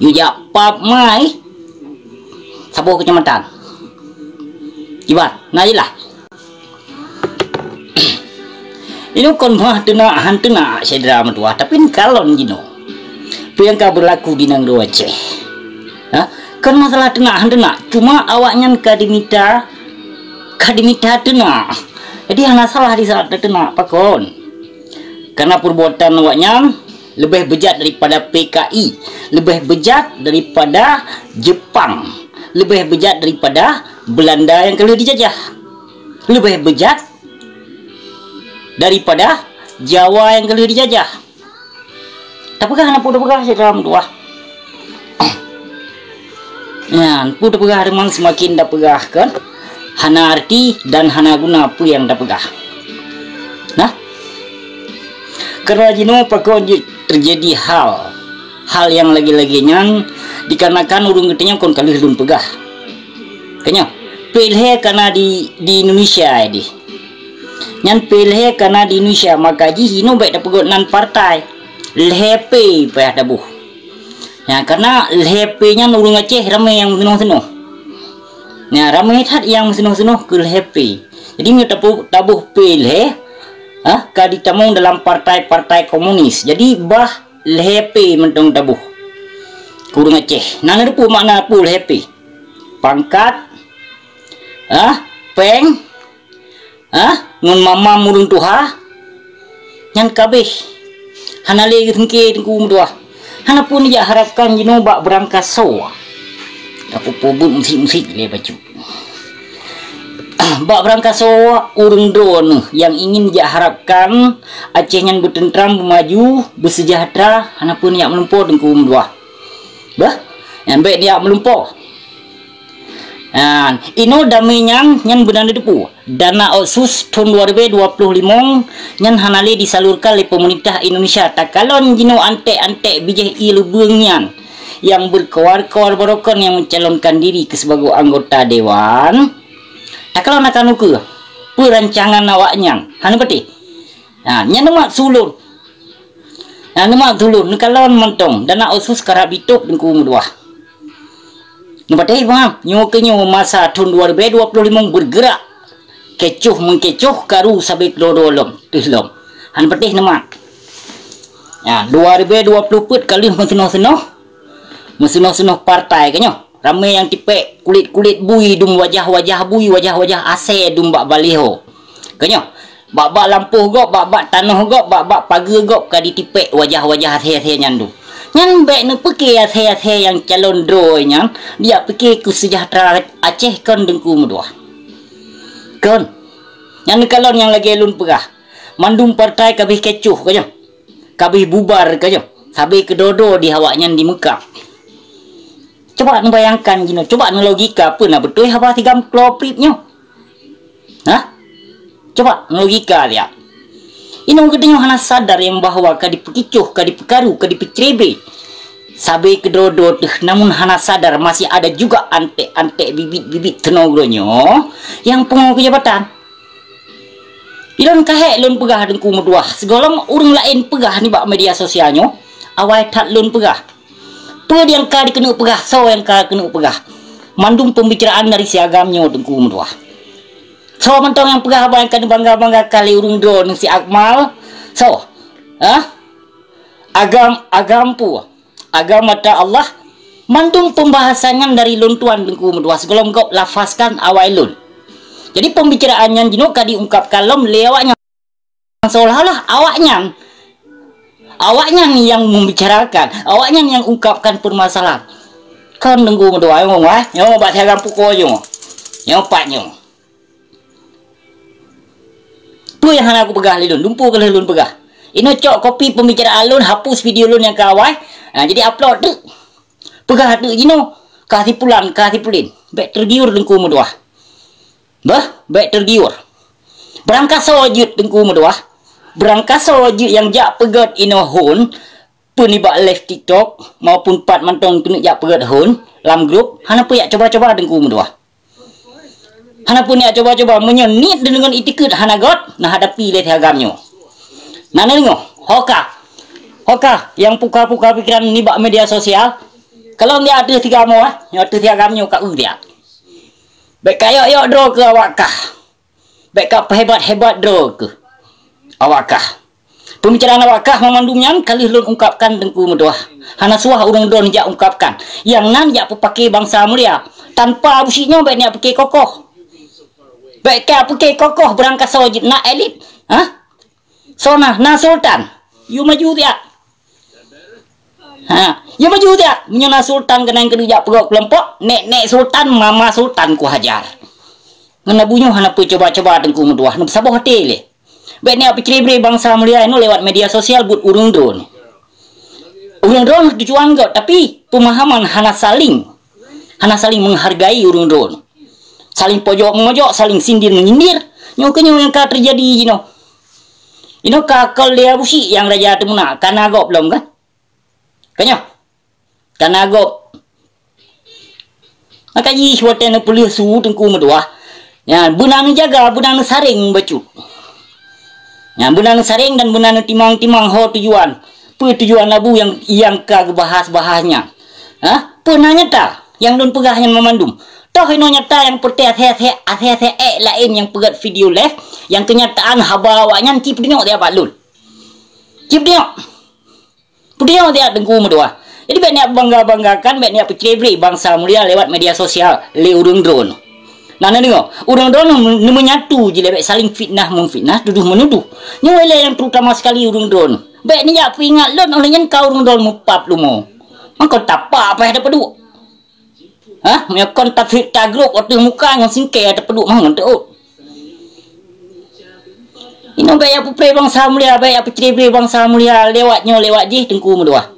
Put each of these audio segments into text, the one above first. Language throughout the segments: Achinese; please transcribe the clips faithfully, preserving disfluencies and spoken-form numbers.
Yue jak pap mai saboh keucamatan. Kiban, na jeulaih. Inoe kon meuh teunak han teunak syedara meutuwah, tapi neukalon jinoe peue nyang ka beulaku di nanggroe Aceh. Ha? Kon masalah teunak han teunak, cuma awaknyan ka dimita, ka dimita teunak. Jadi hana salah di saat teunak pakon. Karena perbuatan awaknyan leubeh beujat daripada P K I, leubeh beujat daripada Jepang, leubeh beujat daripada Belanda nyang ka lheueh dijajah, leubeh beujat daripada Jawa nyang ka lheueh dijajah. Tapeugah na peue tapeugah syedara meutuwah. Nyan, peue tapeugah teuma seumaken tapeugah kan? Hana arti dan hana guna peue nyang tapeugah. Nah, karena jinoe pakon jeuet teujadi hal, hal nyang lagée-lagée nyan dikarenakan ureuëng geutanyoe kon ka lheueh lôn peugah. Ka nyoe, P L H kana di, di Indonesia dih. Nyan P L H kana di Indonesia, maka jih inoe bék tapeugot nan partai. L H P payah taboh. Nyan, karena L H P nyan ureuëng Aceh ramé nyang meutunoh-tunoh. Nyan, ramé that nyang meutunoh-tunoh keu L H P. Jadi, meunyoe taboh, taboh P L H, ha, ka ditamong dalam partai-partai komunis. Jadi, bah L H P mantong taboh. Keu ureuëng Aceh. Na neuteupeue makna peue L H P? Pangkat, ha, péng, ha, ngon mamam ureuëng tuha, nyan ka abéh. Hana lé geusengke Teungku meutuwah. Hana pun jak harapkan jinoe bak beurangkasoe. Aku pobeuet musik-musik lé bacut. Bak beurangkasoe ureuëng droeneuh nyang ingin jak harapkan Aceh nyan beuteuntram, beumaju, beuseujahteura, hana pun jak meulumpoe Teungku meutuwah. Bah, nyan bék jak meulumpoe. Nah, inoe damé nyan, nyan beuna neuteupeue. Dana otsus thon dua ribée dua ploh limong nyan hana lé disalurkan lé peumeurintah Indonesia. Takalon jinoe anték-anték bijéh ié leubeueng nyan nyang beukoar-koar barokon nyang mencalonkan diri keu sibagoe anggota dewan. Takalon akan ukeue peurancangan awaknyan. Hana patéh. Nah, nyan neumat sulon. Nah, neumat sulon. Neukalon mantong. Dana otsus karab jitôb Teungku meutuwah. Neupatéh, paham? Nyoe keu nyoe masa thon dua ribée dua ploh limong beurgeurak. Kecoh meukecoh karu sabe keudroe-droe lom, teuh lom. Hana patéh neumat. Nyan, dua ribée dua ploh peuet ka lheueh meuseunoh-seunoh. Meuseunoh-seunoh partai ka nyoe. Ramé nyang tipék kulét-kulét bui dum wajah-wajah bui, wajah-wajah asée dum bak baliho. Ka nyoe. Bak-bak lampôh gob, bak-bak tanoh gob, bak-bak pageue gob ka ditipék wajah-wajah asée-asée nyan dum. Nyan bék neupeuke asée-asée nyang calon droe nyan, dijak pike keu seujahteura Aceh kon Teungku meutuwah. Kon. Nyan neukalon nyang lagée lôn peugah. Mandum partai ka abéh kecoh ka nyoe. Ka abéh bubar ka nyoe. Sabe keudroe-droe di awaknyan di Meukah. Coba neubayangkan jinoe, coba neulogika peue na beutôi haba si Agam Klo Prip nyoe. Hah? Coba logika lihat. Inoe geutanyoe hana sadar nyang bahwa ka dipeukicoh, ka dipeukaru, ka dipeucrebe. Sabe keudroe-droe teuh, namun hana sadar masih ada juga antek-antek bibit-bibit teunoe geutanyoe nyang pungo keu jabatan. Ilôn ka hék lôn peugah Teungku meutuwah, sigohlom ureuëng laén peugah nibak media sosial nyoe, awai that lôn peugah. Peue nyang ka dikeuneuk peugah, soe nyang ka keuneuk peugah. Mandum pembicaraan dari si Agam nyoe Teungku meutuwah. Soe mantong nyang peugah haba nyang ka neubangga-banggakan lé ureuëng droeneuh si Akmal? Soe? Hah? Agam, Agam peue? Agam mata Allah? Mandum pembahasan nyan dari lôn tuan Teungku meutuwah sigohlom gob lafazkan awai lôn. Jadi pembicaraan nyan jinoe ka diungkapkan lom lé awaknyan. Seolah-olah awaknyan, awaknyan nyang membicarakan, awaknyan nyang ungkapkan permasalahan. Kon Teungku meutuwah, nyoe, wah, nyoe bak si Agam pukul nyoe. Nyoe pat nyoe. Peue nyang hana kupeugah lé lôn, lumpu keuh lôn peugah. Inoe cok kopi pembicaraan lôn, hapus video lôn nyang ka awai. Ha, jadi upload teuk. Peugah teuk jinoe, ka si pulan, ka si pulin. Bék tergiur Teungku meutuwah. Bah, bék tergiur. Beurangkasoe jeuet Teungku meutuwah. Beurangkasoe jeuet nyang jak peugét inoe hon, peue nibak live TikTok, maupun pat mantong keuneuk jak peugét hon lam grup, hana peue jak coba-coba Teungku meutuwah. Hana peue jak coba-coba, meunyoe niet deungon itikeuet hana göt, na hadapi lé si Agam nyoe. Na neudeungoe, hoka. Hoka, nyang puka-puka pikiran nibak media sosial, Kalau nyoe ateueh tiga mo, eh, nyoe ateueh tiga mo nyoe ka eu dia. Bèk ka yok-yok droe keu awak kah. Bèk ka peuhebat-hebat droe keu awak kah. Peumikiran awak kah mandum nyan ka lheueh lôn ungkapkan Teungku meutuah. Hana suah ureueng droe jak ungkapkan. Nyang nan jak peupake bansa mulia. Tanpa Abu Syik nyoe bèk neujak pike kokoh. Bèk ka pike kokoh beurangkasoe jeuet na elit. Hah? Soe na, na sultan. Yue maju tiak. Ha, yue maju tiak. Meunyoe na sultan keunan keuneuk jak peugöt keulompok, nek-nek sultan, mama sultan kuhajar. Ngon Abu nyoe hana peucoba-coba Teungku meutuah, neupeusaboh até lé. Bèk neujak peucre-bre bansa mulia nyoe lewat media sosial buet ureueng droe. Ureueng droe tujuan göt, tapi pemahaman hana saling, hana saling menghargai ureueng droe. Saling pojok-memojok, saling sindir-menyindir. Nyoe keuh nyoe nyang ka teujadi jinoe. Inoe ka akal lé Abu Syik nyang raja teumeunak, ka na gob lom kan? Ka nyoe? Ka na gob. Maka jih watèe neupeuleueh su Teungku meutuah. Nyan, beuna neujaga, beuna neusareng bacut. Nyan, beuna neusareng dan beuna neutimang-timang ho tujuan. Peue tujuan Abu nyang, nyang ka geubahas-bahas nyan? Hah? Peue na nyata nyang lôn peugah nyan meumandum? Toh inoe nyata nyang peureuté asèe-asèe, asèe-asèe èk laén nyang peugöt video live, nyang keunyataan haba awaknyan ci peudeungoe di abak lôn. Ci peudeungoe. Peudeungoe di Teungku meutuah. Jadi bèk neujak bangga-banggakan, bèk neujak peucre-bre bansa mulia lewat media sosial lé ureueng droe. Nah, na deungoe, ureueng droe neumeunyatu jilèe bèk saling fitnah-meufitnah, tudoh-meunudoh. Nyoe ilèe nyang terutama sekali ureueng droe. Bèk neujak peuingat lôn, óh lheueh nyan ka ureueng droe meupap lumo. Mangkon tapak paih tapeuduek. Hah? Meunyoe kon tafit tagrôp ateueh muka ngon singkèe tapeuduek mah ngon teuôt. Inoe bèk jak peupreh bansa mulia, bèk jak peucre-bre bansa mulia lewat nyoe lewat jih Teungku meutuah.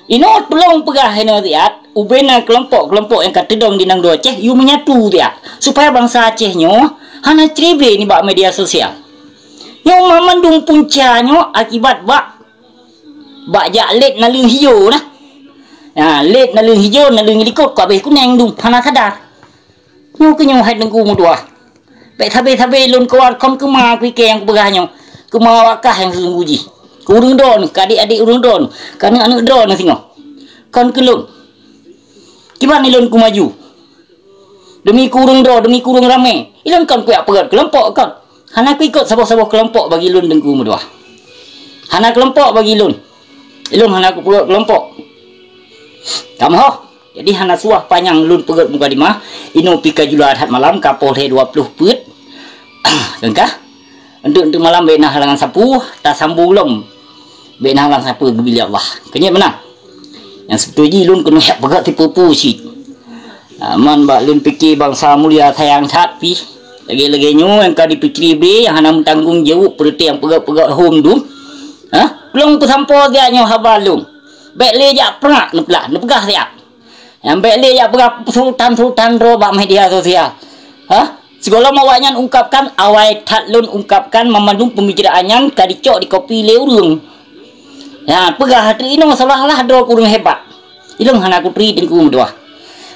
Inoe tulông peugah inoe siat, ubena keulompok-keulompok nyang ka teudong di nanggroe Aceh, yue meunyatu siat, supaya bansa Aceh nyoe hana cre-bre nibak media sosial. Nyoe mandum punca nyoe akibat bak, bak jak lét naleueng hijô nah. Ha, lét naleueng hijô, naleueng likot ka abéh kunèng dum, hana sadar. Nyoe keuh nyoe hai Teungku meutuah. Bèk sabe-sabe lôn keuluar kon keu ma pike nyang kupeugah nyoe. Keu ma awak kah nyang seuleubu jih. Keu ureueng droeneuh, keu adék-adék ureueng droeneuh, keu aneuk-aneuk droeneuh singoh. Kon keu lôn. Kiban ilôn kumaju. Demi keu ureueng droe, demi keu ureueng ramé. Ilôn kon kujak peugöt keulompok kon. Hana kuikot saboh-saboh keulompok bagi lôn Teungku meutuah. Hana keulompok bagi lôn. Ilôn hana kupeugöt keulompok. Kamoe. Jadi hana suah panyang lôn peugöt mukadimah, inoe pih ka jula that malam, ka poh lhèe dua ploh peuet. Keungkah, enteuk-enteuk malam bèk na halangan sapeue, tasambong lom. Bèk na halangan sapeue geubri lé Allah. Keunyan meunan. Nyang seubeutôi jih lôn keuneuk jak peugöt sipeue-peue cit. Aman bak lôn pike bansa mulia sayang that pih. Lagèe-lagèe nyoe nyang ka dipeucre-bre, nyang hana meutanggong jaweueb peureuté nyang peugöt-peugöt hom dum. Hah? Lôn peusampoe siat nyoe haba lôn. Bèk lé jak prak neuplah, neupeugah siat. Nyang bèk lé jak peugah sultan-sultan droe bak media sosial. Hah? Sigohlom awaknyan ungkapkan, awai that lôn ungkapkan, mandum peumikiran nyan ka dicok dikopi lé ureueng. Nyan, peugah ateueh inoe seolah-olah droe ureueng hebat. Ilôn hana kuturi Teungku meutuah.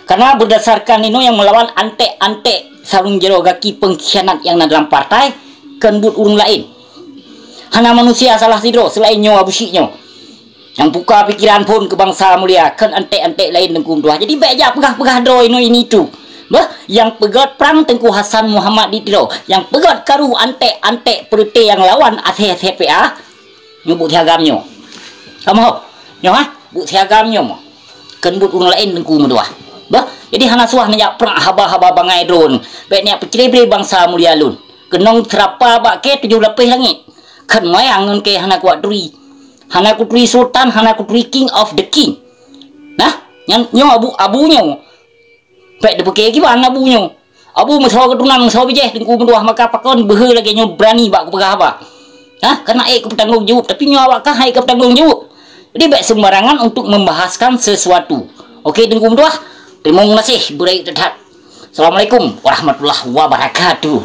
Karena berdasarkan inoe nyang meulawan anték-anték sarong jaroe gaki pengkhianat nyang na dalam partai, kon buet ureueng laén. Hana manusia salah sidroe seulaén nyoe Abu Syik nyoe. Nyang buka pikiran phon keu bansa mulia, kon anték-anték laén Teungku meutuah. Jadi bèk jak peugah-peugah droe inoe ini itu. Bah, nyang peugöt prang Teungku Hasan Muhammad di Tiro. Nyang peugöt karu anték-anték peureuté nyang lawan asèe-asèe P A. Nyoe buet si agam nyoe. Kamoe, nyoe ha? Buet si agam nyoe moh. Kon buet ureueng laén Teungku meutuah. Bah, jadi hana suah neujak prak haba-haba bangai droe. Bèk neujak peucre-bre bansa mulia lôn. Keunong seurapa bak kèe tujoh lapéh langét. Kon wayang ngon kèe hana kuat turi. Hana kuturi sultan, hana kuturi king of the king. Nah, nyan nyoe Abu, Abu nyoe. Bèk teupeukèe kiban Abu nyoe. Abu meusoe keuturonan meusoe bijèh Teungku meutuah maka pakon beuhe lagèe nyoe beurani bak kupeugah haba. Hah? Kana ék kupeutanggong jaweueb, tapi nyoe awak kah han ék kupeutanggong jaweueb. Jadi bèk sembarangan untuk membahaskan sesuatu. Oke Teungku meutuah, teurimong gaséh beurayeuk that-that. Assalamualaikum warahmatullahi wabarakatuh.